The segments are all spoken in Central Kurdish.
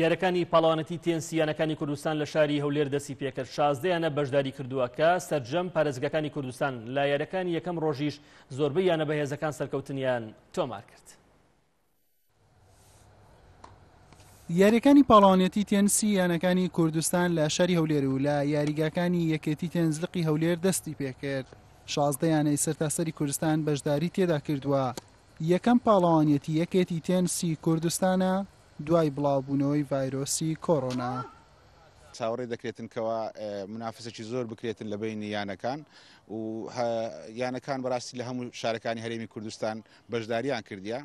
یاریەکانی پاڵەوانێتی تێنسی یانەکانی کوردستان لە شاری هەولێر دەستی پێکرد، 16 یانە بەشداری کردووە کە سەرجەم پارێزگاکانی کوردستان لە یاریەکانی یەکەم ڕۆژیش زۆربەی یانە بەهێزەکان سەرکەوتنیان تۆمار کرد. یاریەکانی پاڵەوانێتی تێنسی یانەکانی کوردستان لە شاری هەولێر و لە یاریگاکانی یەکێتی تێنس لقی هەولێر دەستی پێکرد. 16 یانەی سەرتاسەری کوردستان بەشداری تێدا کردووە. یەکەم پاڵەوانیەتی یەکێتی تێنسی کوردستانە دوای بڵاوبوونەوەی ڤایرۆسی کۆرۆنا. چاوەڕێ دەکرێتن کەوا منافسەکی زۆر بکرێتن لە بەینی یانەکان و یانەکان بەڕاستی لە هەموو شارەکانی هەرێمی کوردستان بەشداریان کردیە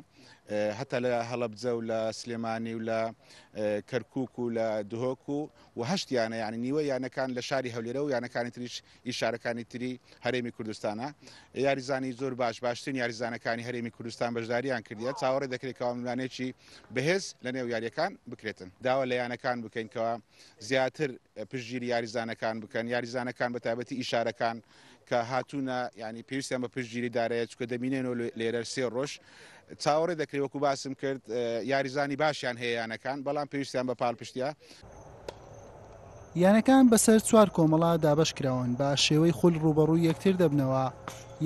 هەتا لە هەڵەبجە و لە سلێمانی و لە کەرکک و لە دهۆک و و هەشت یانە یعنی نیوە یانەکان لە شاری هەولێرە و یانەکانی تریش ئی شارەکانی تری هەرێمی کوردستانە. یاریزانی زۆر باش، باشترین یاریزانەکانی هەرێمی کوردستان بەشداریان کردیە، چاوەڕێ دەکرێت کەوا ململانێکی بەهێز لە نێو یاریەکان بکرێتن. داوا لە یانەکان بکەین کەوا زیاتر پشتگیری یاریزانەکان بکەن، یاریزانەکان بە تایبەتی ئی شارەکان کە هاتوونە یانی پێویستیان بە پشتگیری دارایە چونکە دەمینێنەوە لێرە سێ ڕۆژ. چاوەڕێ دەکرێت وەکو باسم کرد یاریزانی باشیان هەیە یانەکان بەڵام پێویستیان بە پاڵپشتیە. یانەکان بەسەر چوار کۆمەڵە دابەشکراون، بە شێوەی خول ڕووبەڕووی یەکتر دەبنەوە،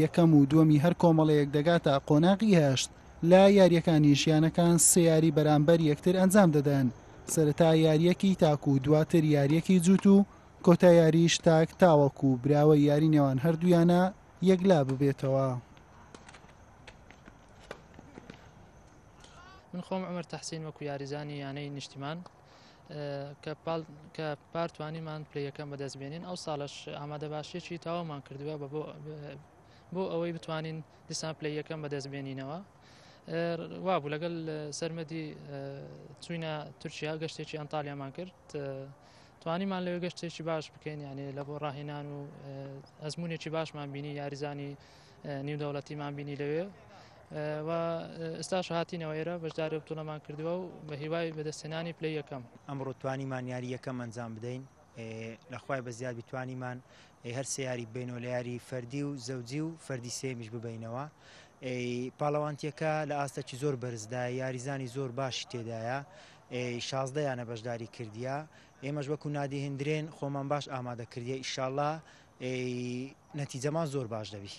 یەکەم و دووەمی هەر کۆمەڵەیەک دەگاتە قۆناغی هەشت، لە یارییەکانیش یانەکان سێ یاری بەرامبەر یەکتر ئەنجام دەدەن، سەرەتا یارییەکی تاک و دواتر یارییەکی جووت و کۆتا یاریش تاک تاوەکو براوەی یاری نێوان هەردوو یانە یەکلا ببێتەوە. من خۆم عومەر تەحسین وەکو یاریزانی یانەی نیشتیمان کە پاڵ کە پار توانیمان پلەی یەکەم بەدەست بێنین ئەو ساڵەش ئامادەباشیەکی تەواومان کردووە بە بۆ بۆ ئەوەی بتوانین دیسان پلەی یەکەم بەدەست بێنینەوە وابوو لەگەڵ سەرمەدی چوینە تورکیا گەشتێکی ئەنتالیامان کرد توانیمان لەوێ گەشتێکی باش بکەین یانێ لە بۆ ڕاهێنان و ئەزمونێکی باشمان بینی یاریزانی نیودەوڵەتیمان بینی لەوێ و ئێستاش هاتینەوە ئێرە بەشداری بتوڵەمان کردووە و بە هیوای بەدەستهێنانی پلەی یەکەم. ئەمڕۆ توانیمان یاری یەکەم ئەنجام بدەین لە خوای بەزیاد بی توانیمان هەر سێ یاری ببەینەوە لە یاری فەردی و زەوجی و فەردی سێمیش ببەینەوە پاڵەوانتیەکە لە ئاستەکی زۆر بەرزدایە یاریزانی زۆر باشی تێدایە 16 یانە بەشداری کردیە ئێمەش وەکو نادی هندرێن خۆمان باش ئامادە کردیە ئیشاڵا نەتیجەمان زۆر باش دەبی.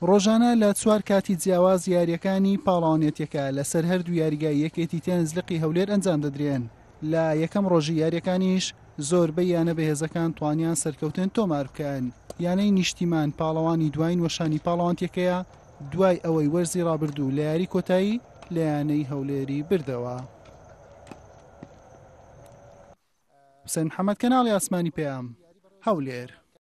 ڕۆژانە لە چوار کاتی جیاواز یارییەکانی پاڵەوانێتیەکە لەسەر هەردوو یاریگای یەکێتی تێنس لقی هەولێر ئەنجام دەدرێن، لە یەکەم ڕۆژی یارییەکانیش زۆربەی یانە بەهێزەکان توانیان سەرکەوتن تۆمار بکەن، یانەی نیشتیمان پاڵەوانی دواین وەشانی پاڵەوانتیەکەیە دوای ئەوەی وەرزی ڕابردوو لە یاری کۆتایی لە یانەی هەولێری بردەوە. حوسێن محەمەد، کەناڵی ئاسمانی پەیام، هەولێر.